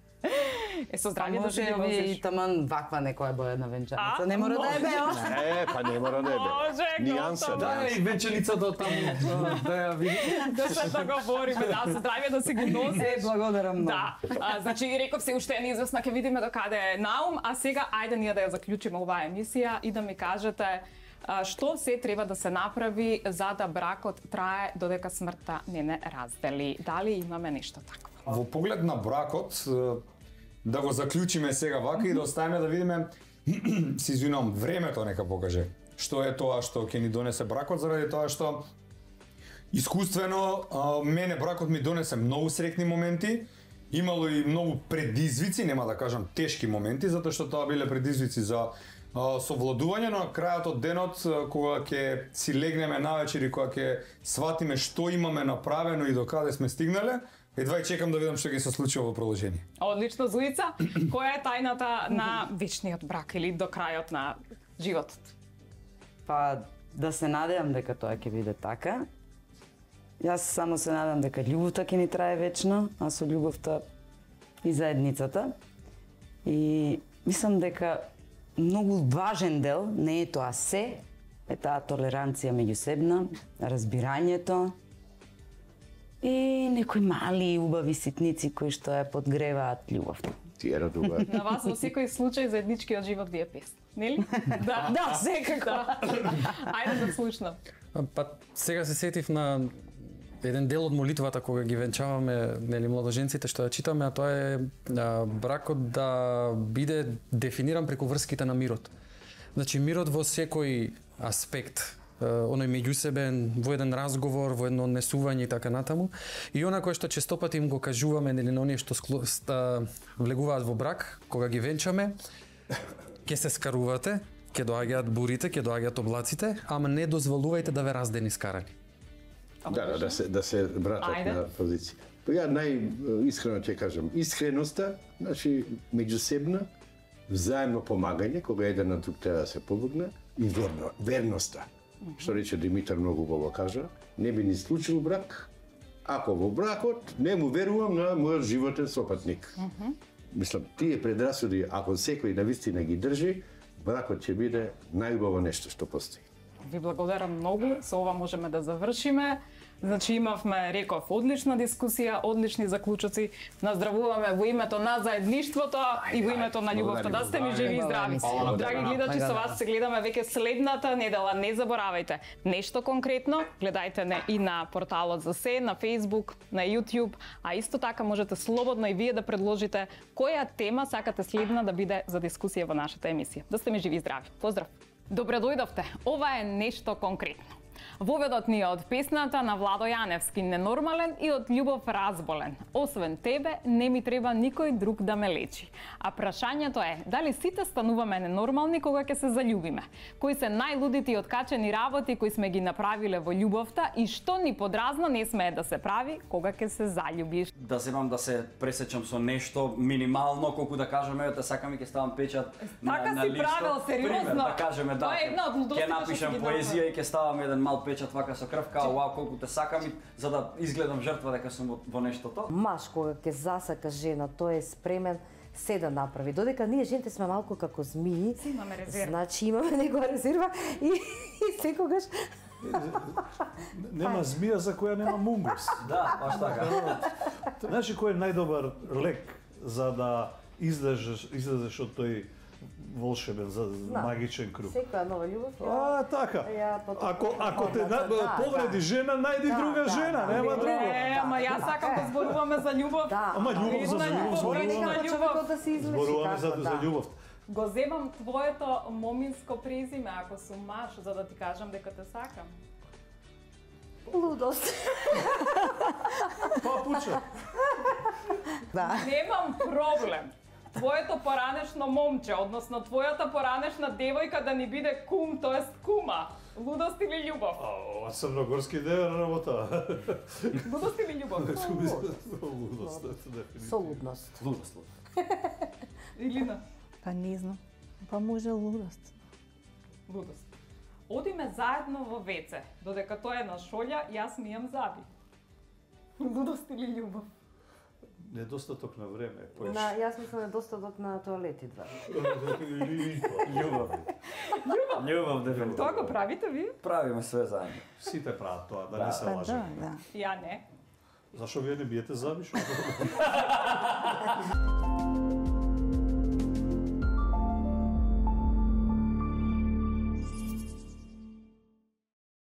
Со здравје да се ги Може и носиш. таман ваква некоја боја на венчаница. А, Не мора да е може. бео. Не, па не мора да е Може, бе. Нијанса, готово. да. И венчаницата таму, да ја види. Да се договориме, да, со здравје да се ги носиш. Благодарам многу. Да, значи реков се уште е неизвестна, ќе видиме до каде е Наум, а сега ајде ние да ја заклучиме оваа емисија и да ми кажете што се треба да се направи за да бракот трае додека смртта не раздели. Дали имаме нешто такво? Во поглед на бракот, да го заклучиме сега вака и да оставиме да видиме, се извинувам, времето нека покаже. Што е тоа што ќе ни донесе бракот, заради тоа што искуствено мене бракот ми донесе многу среќни моменти, имало и многу предизвици, нема да кажам тешки моменти, затоа што тоа биле предизвици за совладување, но на крајот од денот, кога ќе си легнеме навечер и кога ќе сватиме што имаме направено и до каде сме стигнале, едва и чекам да видам што ќе се случи во продолжение. Одлично, Зуица. Која е тајната на вечниот брак или до крајот на животот? Па да се надевам дека тоа ќе биде така. Јас само се надам дека љубовта ќе ни трае вечно, а со љубовта и заедницата. И мислам дека многу важен дел, не е тоа се, е таа толеранција меѓусебна, разбирањето и некои мали убави ситници кои што ја подгреваат љубовта. Тие радуваат. На вас во секој случај заедничкиот живот ви е песна, нели? Да, Да, секако. Ајде да слушнам. Па сега се сетив на еден дел од молитвата кога ги венчаваме, нели, младоженците што ја читаме, а тоа е бракот да биде дефиниран преку врските на мирот. Значи мирот во секој аспект, оној меѓусебен, во еден разговор, во едно однесување и така натаму. И она кое што честопати им го кажуваме, нели, на оние што влегуваат во брак, кога ги венчаме, ќе се скарувате, ќе доаѓаат бурите, ќе доаѓаат облаците, ама не дозволувајте да ве раздени скарани. Да се вратат на позиција. Ја најискрено ќе кажам, искреноста, значи меѓусебна, взаемно помагање, кога еден на друг треба да се помогне, и верноста. Што рече Димитар многу убаво кажа, не би ни случил брак, ако во бракот не му верувам на мојот животен сопатник. Мислам, тие предрасуди, ако секој навистина ги држи, бракот ќе биде најубаво нешто што постои. Ви благодарам многу, со ова можеме да завршиме. Значи имавме, реков, одлична дискусија, одлични заклучоци. Наздравуваме во името на заедништвото и во името на љубовта. Да сте ми живи и здрави. Драги гледачи, со вас се гледаме веќе следната недела. Не заборавајте, нешто конкретно, гледајте не и на порталот за се, на Facebook, на YouTube, а исто така можете слободно и вие да предложите која тема сакате следна да биде за дискусија во нашата емисија. Да сте ми живи и здрави. Поздрав! Добре дојдовте. Ова е нешто конкретно. Воведот ни е од песната на Владо Јаневски "Ненормален" и од Љубов Разболен. Освен тебе, не ми треба никој друг да ме лечи. А прашањето е, дали сите стануваме ненормални кога ќе се заљубиме? Кои се најлудите и откачени работи кои сме ги направиле во љубовта и што ни подразно не смее да се прави кога ќе се заљубиш? Да земам да се пресечам со нешто минимално, колку да кажеме, да сакам и ќе ставам печат на листа. Така си правил, сериозно? Пример, да кажеме, да. Ќе напишам поезија и ќе ставам еден мал печат вака со крв, као вау колку те сакам, за да изгледам жртва дека сум во нештото. Маж кога ќе засака жена, тој е спремен се да направи. Додека ние жените сме малку како змии, имаме резерва. Значи имаме негова резерва и секогаш нема змија за која нема мунгус. Да, баш така. Значи кој е најдобар лек за да излезеш од тој волшебен, магичен круг? Секоја нова љубов. Така. Ако те повреди жена, најди друга жена, нема друго. Ама јас сакам да зборуваме за љубов. Ама љубов за љубов да се излечи. Зборуваме за љубов. Го земам твоето моминско презиме ако сум маж, за да ти кажам дека те сакам. Лудост. Папуче. Немам проблем. Твоето поранешно момче, односно твојата поранешна девојка да ни биде кум, тоест кума. Лудост или љубов? Ова црногорски девер работа. Лудост или љубов? Лудост, дефинитивно. Со лудност. Лудост. Илина? Па не знам. Па може лудост. Лудост. Одиме заедно во веце, додека тој е на шолја, јас мијам заби. Лудост или љубов? Недостаток на време. Јас мислам недостаток на тоалети два. Љубов. Љубов, дефинитивно. Тоа го правите ви? Правиме све заедно. Сите прават тоа, да не се лажеме. Ја не. Зашо вие не биете заби?